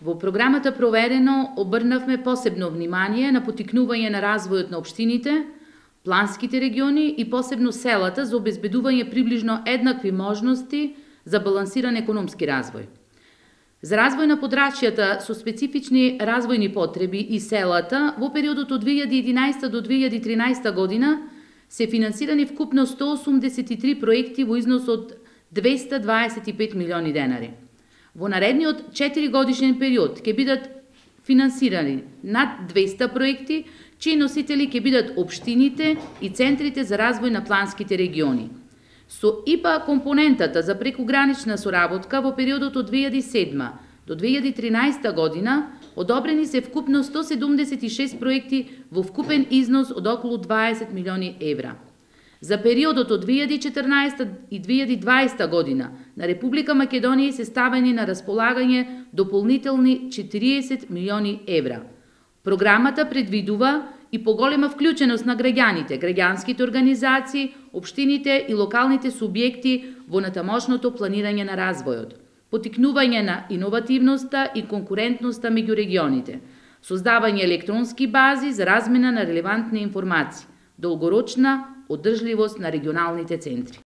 Во програмата Проверено обрнавме посебно внимание на поттикнување на развојот на општините, планските региони и посебно селата за обезбедување приближно еднакви можности за балансиран економски развој. За развој на подрачјата со специфични развојни потреби и селата во периодот од 2011 до 2013 година се финансирани вкупно 183 проекти во износ од 225 милиони денари. Во наредниот 4 годишен период ќе бидат финансирани над 200 проекти, чии носители ќе бидат општините и центрите за развој на планските региони. Со ИПА компонентата за прекугранична соработка во периодот од 2007 до 2013 година одобрени се вкупно 176 проекти во вкупен износ од околу 20 милиони евра. За периодот од 2014 и 2020 година на Република Македонија се ставени на располагање дополнителни 40 милиони евра. Програмата предвидува и поголема вклученост на граѓаните, граѓанските организации, општините и локалните субјекти во натамошното планирање на развојот, поттикнување на иновативноста и конкурентноста меѓу регионите, создавање електронски бази за размена на релевантни информации, долгорочна одржливост на регионалните центри.